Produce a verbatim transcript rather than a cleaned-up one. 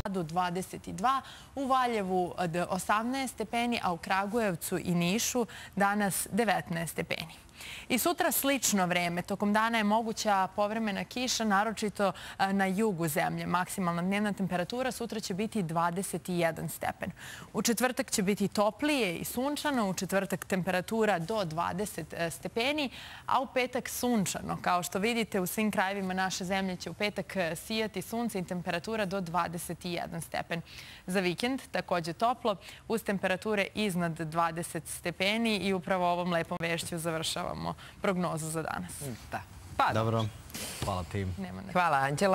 Gradu dvadeset dva, u Valjevu osamnaest stepeni, a u Kragujevcu i Nišu danas devetnaest stepeni. I sutra slično vreme. Tokom dana je moguća povremena kiša, naročito na jugu zemlje. Maksimalna dnevna temperatura sutra će biti dvadeset jedan stepen. U četvrtak će biti toplije i sunčano, u četvrtak temperatura do dvadeset stepeni, a u petak sunčano. Kao što vidite, u svim krajevima naše zemlje će u petak sijati sunce i temperatura do dvadeset jedan stepen. Za vikend takođe toplo, uz temperature iznad dvadeset stepeni i upravo ovom lepom vešću završavamo prognozu za danas. Da. Pa dobro. Hvala ti. Nema na- Hvala, Anđela.